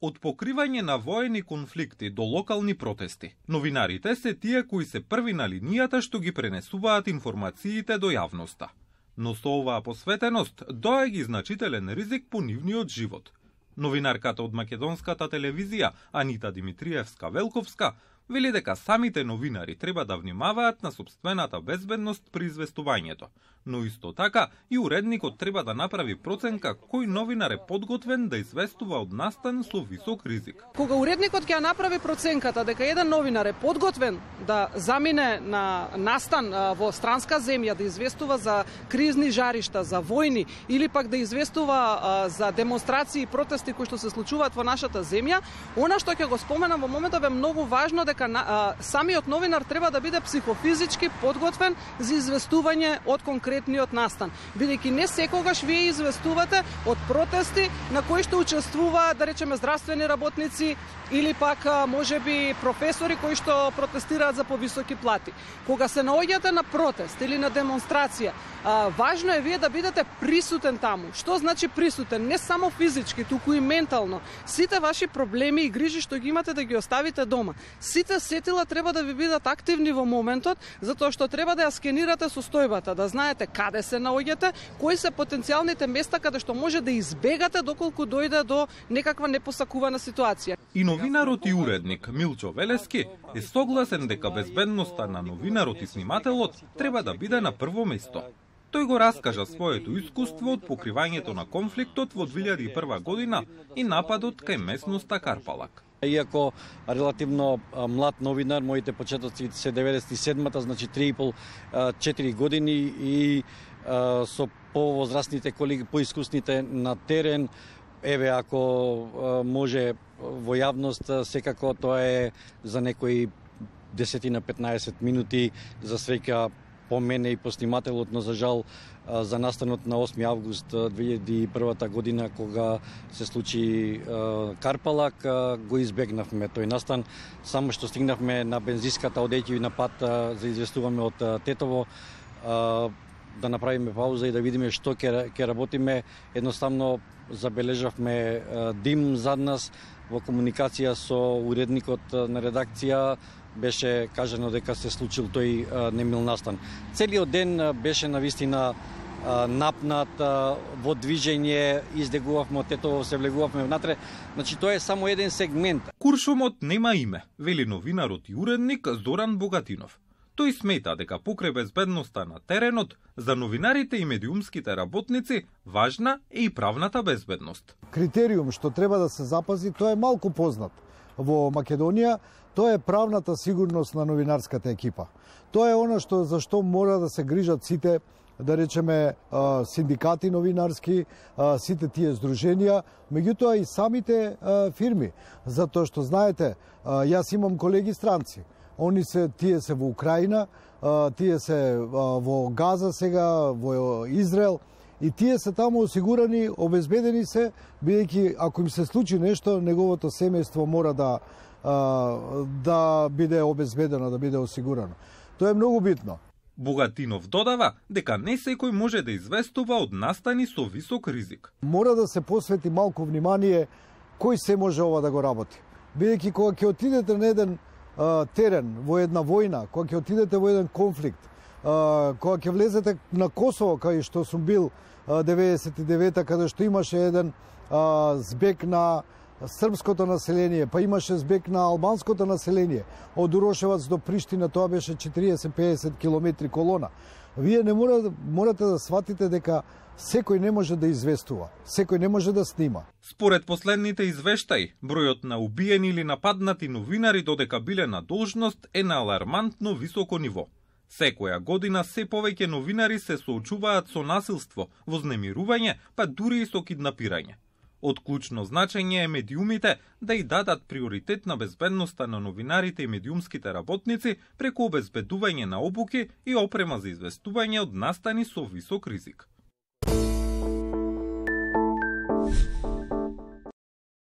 Од покривање на воени конфликти до локални протести, новинарите се тие кои се први на линијата што ги пренесуваат информациите до јавноста. Но со оваа посветеност доаѓа значителен ризик по нивниот живот. Новинарката од македонската телевизија Анита Димитриевска-Велковска вели дека самите новинари треба да внимаваат на сопствената безбедност при известувањето, но исто така и уредникот треба да направи проценка кој новинар е подготвен да известува од настан со висок ризик. Кога уредникот ќе направи проценката дека еден новинар е подготвен да замине на настан во странска земја, да известува за кризни жаришта, за војни или пак да известува за демонстрации и протести кои што се случуваат во нашата земја, она што ќе го споменам во моментов е многу важно, дека самиот новинар треба да биде психофизички подготвен за известување од конкретниот настан, бидејќи не секогаш вие известувате од протести на кои што учествуваат, да речеме, здравствени работници или пак можеби професори кои што протестираат за повисоки плати. Кога се наоѓате на протест или на демонстрација, важно е вие да бидете присутен таму. Што значи присутен? Не само физички, туку и ментално. Сите ваши проблеми и грижи што ги имате да ги оставите дома. Сите сетила треба да ви бидат активни во моментот, затоа што треба да ја скенирате состојбата, да знаете каде се наоѓате, кои се потенцијалните места каде што може да избегате доколку дојде до некаква непосакувана ситуација. И новинарот и уредник Милчо Велески е согласен дека безбедноста на новинарот и снимателот треба да биде на прво место. Тој го раскажа своето искуство од покривањето на конфликтот во 2001 година и нападот кај местноста Карпалак. Иако релативно млад новинар, моите почетоци се 97-та, значи 3,5-4 години и со повозрастните колеги, поискусните на терен, еве ако може во јавност, секако тоа е за некои 10-15 минути, за среќа по мене и по снимателот, но за жал за настанот на 8 август 2001 година, кога се случи Карпалак, го избегнавме тој настан. Само што стигнавме на бензиската, одејќи на пат за известуваме од Тетово, да направиме пауза и да видиме што ќе работиме. Едноставно забележавме дим зад нас. Во комуникација со уредникот на редакција беше кажано дека се случил тој немил настан. Целиот ден беше навистина напнат, во движење, издегувавме од Тетово, се влегувавме внатре. Значи тоа е само еден сегмент. Куршумот нема име, вели новинарот и уредник Зоран Богатинов. Тој смета дека покрај безбедноста на теренот, за новинарите и медиумските работници важна е и правната безбедност. Критериум што треба да се запази, тоа е малку познат во Македонија, тоа е правната сигурност на новинарската екипа. Тоа е она што за што мора да се грижат сите, да речеме, синдикати новинарски, сите тие здруженија, меѓутоа и самите фирми, затоа што знаете, јас имам колеги странци. Тие се во Украина, тие се во Газа сега, во Израел, и тие се таму осигурани, обезбедени се, бидејќи ако им се случи нешто, неговото семејство мора да биде обезбедено, да биде осигурано. Тоа е многу битно. Богатинов додава дека не секој може да известува од настани со висок ризик. Мора да се посвети малку внимание кој се може ова да го работи. Бидејќи кога ќе отидете на еден терен, во една војна, кога ќе отидете во еден конфликт, кога ќе влезете на Косово, кај што сум бил 99-та, каде што имаше еден збег на српското население, па имаше збег на албанското население, од Урошевац до Приштина, тоа беше 40-50 километри колона. Вие не морате да сватите дека секој не може да известува, секој не може да снима. Според последните извештаи, бројот на убиени или нападнати новинари додека биле на должност е на алармантно високо ниво. Секоја година се повеќе новинари се соочуваат со насилство, вознемирување, па дури и со киднапирање. Од клучно значење е медиумите да и дадат приоритет на безбедноста на новинарите и медиумските работници преку обезбедување на обуки и опрема за известување од настани со висок ризик.